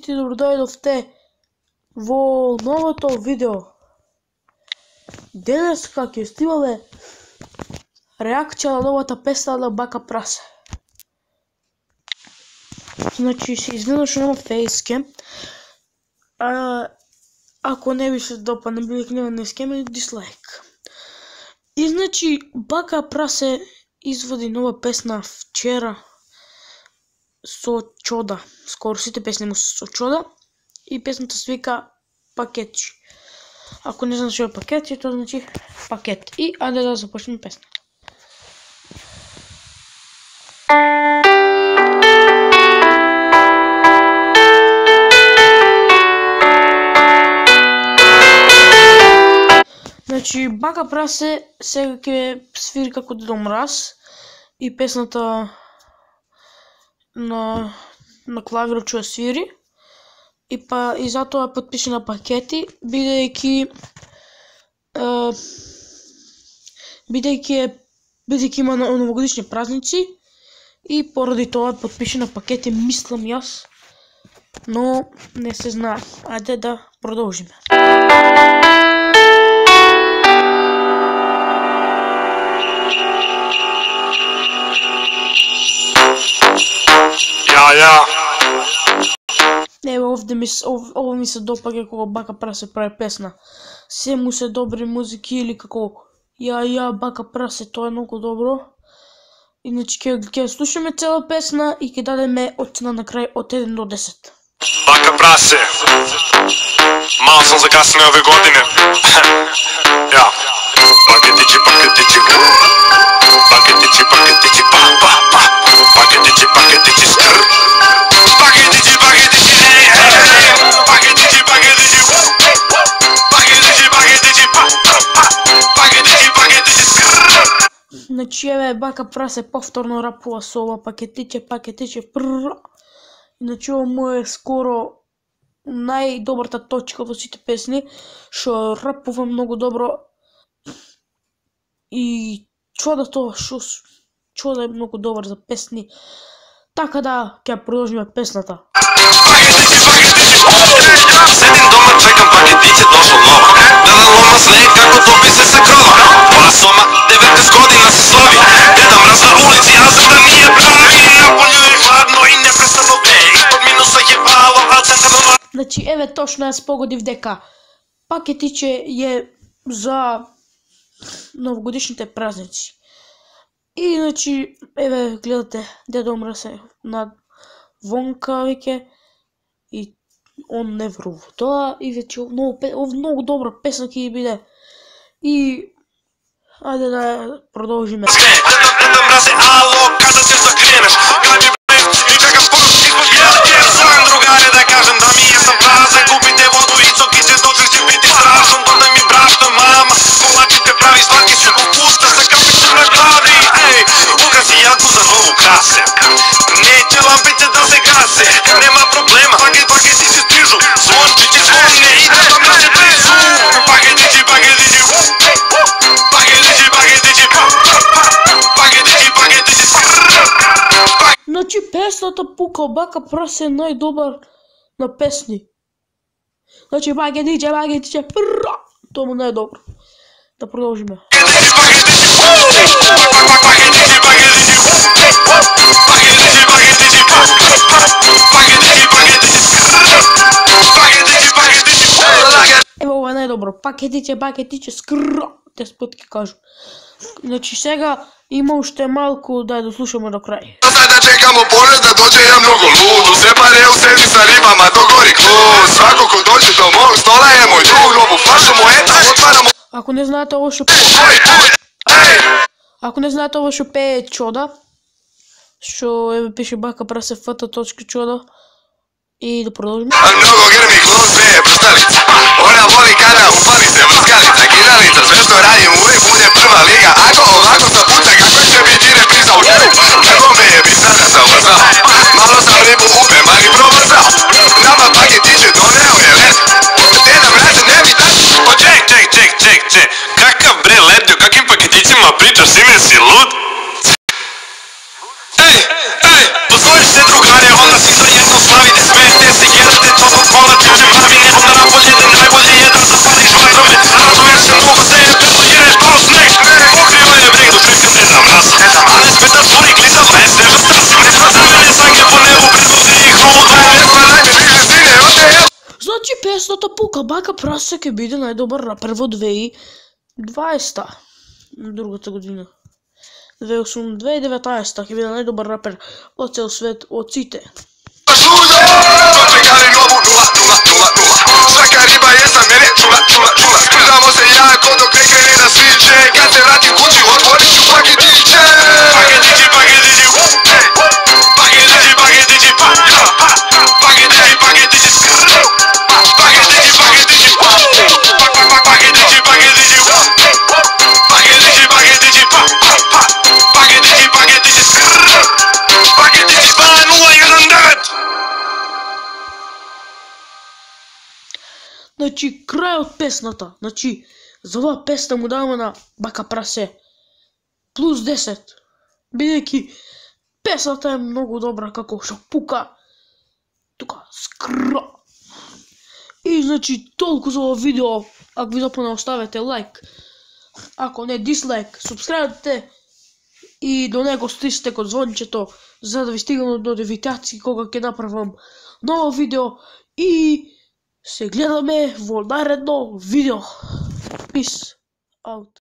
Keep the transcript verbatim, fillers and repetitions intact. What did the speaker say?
сите добродојдовте во новото видео. Денеска ќе снимаме реакција на новата песна на Бака Прасе. Значи, се изненадаш на фейскем. А, ако не ви се допадне, били кневен на скеме, дислайк. И значи, Бака Прасе изводи нова песна вчера со Чода. Скоро сите песни му со Чода. И песната се вика Пакетчи. Ако не знаеш што е пакетчи, тоа значи пакет. И ајде да започнеме песната. Значи, Бака Прасе сега ќе свири како Дедо Мраз и песната на на клавирот ќе свири. И па и затоа потпише на Пакети, бидејќи е, бидејќи бидејќи има новогодишни празници и поради тоа потпише на Пакети, мислам јас, но не се знае. Ајде да продолжиме. Ја, ја. Ево, овде ми, ов, ово ми се допаѓа кога Бака Прасе прави песна. Се му се добри музики или како ја, ја, Бака Прасе, тоа е многу добро. Иначе ќе ќе слушаме цела песна и ќе дадеме оцена на крај од еден до десет. Бака Прасе. Мало сам закаснео ове године. Ја. Пакетичи, пакетичи. Пакетичи, пакетичи, па, па, па. Пакетичи, пакетичи, скр. Пакетичи, пакетичи, ей, ей. Пакетичи, пакетичи. Пакетичи, пакетичи, па, па, па. Пакетичи, пакетичи, скр. Значи, еве, Бака Прасе повторно рапува со ова пакетиче, пакетиче, прррр. Иначе, ово му е скоро најдобрата точка во сите песни, што рапува многу добро. И Чода тоа што Чода е многу добар за песни. Така да, ќе продолжиме песната. Пакетичи, пакетичи, седим дома, чекам пакетиче, дошол нова. Дедам лома снег, како топи се се крова. Тоа сома, деветнаесет година се слави. Деда Мраз на улици, а за да ние прави. Наполju е хладно и непрестано вее. Испод минуса е вало, а центарно... Значи, еве точно јас погодив дека Пакетиче е за новогодишните празници. И значи, еве гледате, Дедо Мраз е на вонка веќе и он не врува тоа и веќе многу многу добра песна ќе биде. И ајде да продолжиме. Дедо Мраз е ало, када ќе се кренеш? Граби бе и чекам поруки од јелке. Својам другаре да кажем да ми е сам празен. Купите воду и цоките, дочек ќе биде страшно. Дојде ми брашно, мама, колачите прави сваки се попуста, се капите на глави. Ей, украси јако за ново красе. Неќе лампите да се гасе. Нема проблема, пакет, пакетичи стижу. Звончите звонне и Дедо Мраз е близу. Пакетичи, пакетичи. Пакетичи, пакетичи. Пакетичи, пакетичи. Значи, песната пука, Бака Прасе е најдобар на песни. Значи, пакетиче, пакетиче, прррр, тоа му најдобро. Да продолжиме. Ево, ова е најдобро. Пакетиче, пакетиче, скрррр. Дес пат ќе кажу. Значи, сега има уште малку да ја дослушаме до крај. Sad da čekamo pored da dođe ja mnogo lud. U separe u sedi sa ribama, to gori klub. Svako ko dođe do mog stola je moj drug. Novu flašu mu eto otvaramo. Ако не знаете ово што Ако не знаете ово што пее Чода, што еве пише Бака Прасе фт.чода и да продолжиме. A mnogo grmi klub sve je prstalica. Ona voli kada upali se vrskalica. Kidalica, sve što radim uvijek bude prva liga. Ako ovako sa puta kako će biti repriza u njegu. Kako me je bi sada sam ubrzao. Malo sam ribu upe, mali probrzao. Nama Paketiće doneo je led. Deda Mraze ne bi tako. O, ček, ček, ček, ček, ček. Kakav bre Leptio, kakvim paketićima pričaš, sine si lud? Ej, ej, pozvoliš se drugare, onda si to jedno slavite, smete se, jedete to песната пука, бака прасе ќе биде најдобар рапер во две тисячи и дваесета, другата година. две тисячи и деветнаесета ќе биде најдобар рапер во цел свет од сите. Svaka riba je za mene čula, čula, čula. Sprdamo se jako dok ne krene da sviče. Kad se vratim kući otvorit ću paketiće. Paketići, paketići, paketići, paketići, pa, pa, paketići, paketići, paketići, paketići, paketići, paketići, paketići, paketići, pa, pa, paketići, paketići, paketići, pa, nula jedan devet. Значи, крај од песната. Значи, за оваа песна му даваме на бака прасе плюс десет. Бидејќи песната е многу добра, како што пука. Тука, скра. И, значи, толку за ова видео. Ако ви допадна, оставете лайк. Ако не, дислайк. Субскрајбите. И до него стиснете кон звончето, за да ви стигнат нотификации кога ќе направам ново видео. И се гледаме во наредно видео. Peace out.